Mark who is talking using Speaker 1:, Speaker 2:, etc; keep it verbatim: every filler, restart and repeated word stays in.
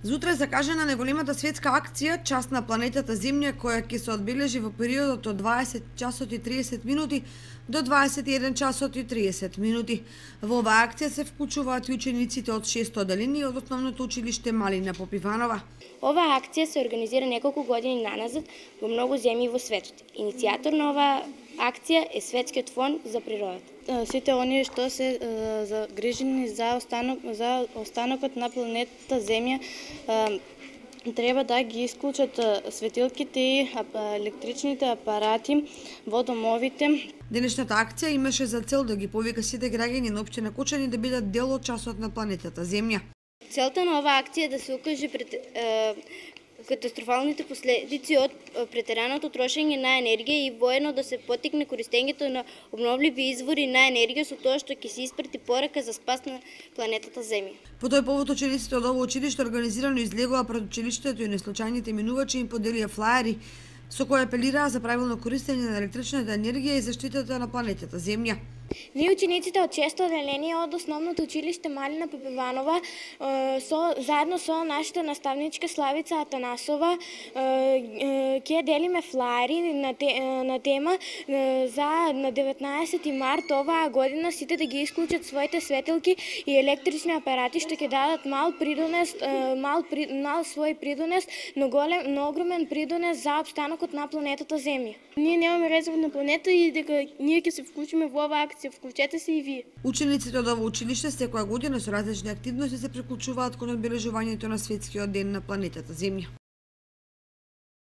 Speaker 1: Зутре е закажана најголемата светска акција "Час на планетата Земја", која ќе се одбележи во периодот од дваесет часот и триесет минути до дваесет и еден часот и триесет минути. Во оваа акција се вклучуваат и учениците од шесто одделение од Основното училиште Малина Попиванова.
Speaker 2: Оваа акција се организира неколку години наназад во многу земји во светот. Иницијатор на оваа акција е Светскиот фонд за природата.
Speaker 3: Сите оние што се загрижени за останок за останокот на планетата Земја треба да ги исклучат светилките и електричните апарати во домовите.
Speaker 1: Денешната акција имаше за цел да ги повика сите граѓани на општина Кочани да бидат дел од часот на планетата Земја.
Speaker 2: Целта на оваа акција е да се укаже пред е, катастрофалните последици од претераното трошење на енергија и воедно да се поттикне користењето на обновливи извори на енергија со тоа што ќе се испрати порака за спас на планетата Земја.
Speaker 1: По тој повод учениците од ово училиште организирано излегува пред училиштето и неслучајните минувачи им поделија флаери со кои апелираа за правилно користење на електричната енергија и заштитата на планетата Земја.
Speaker 4: Ние учениците од шесто одделение од Основното училиште Малина Попиванова со заедно со нашата наставничка Славица Атанасова ќе делиме флаери на, те, на тема за на деветнаесети март оваа година сите да ги исклучат своите светилки и електрични апарати што ќе дадат мал придонес мал, мал свој придонес, но голем, но огромен придонес за опстанокот на планетата Земја.
Speaker 3: Ние немаме резервна планета и дека ние ќе се вклучиме во оваа акција. Вклучете се и вие.
Speaker 1: Учениците од ово училиште секоја година со различни активности се приклучуваат кон одбележувањето на светскиот ден на планетата Земја.